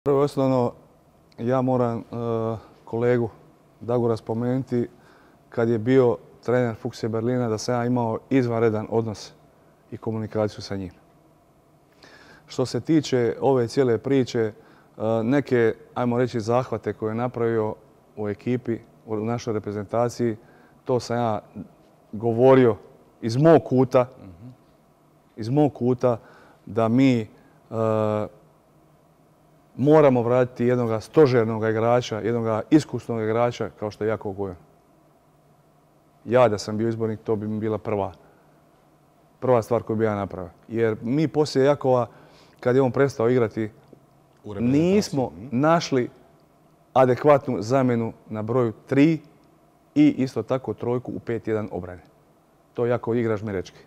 Prvo i osnovno, ja moram kolegu Dagora spomenuti kad je bio trener Fuchsia Berlina da sam ja imao izvanredan odnos i komunikaciju sa njim. Što se tiče ove cijele priče, neke, ajmo reći, zahvate koje je napravio u ekipi, u našoj reprezentaciji, to sam ja govorio iz mog kuta da mi moramo vratiti jednog stožernog igrača, jednog iskusnog igrača kao što je Jakov Gojan. Ja da sam bio izbornik, to bi mi bila prva stvar koju bi ja napravio. Jer mi poslije Jakova, kad je on prestao igrati, nismo našli adekvatnu zamjenu na broju 3 i isto tako trojku u 5-1 obrane. To je Jakov igrač Merečki.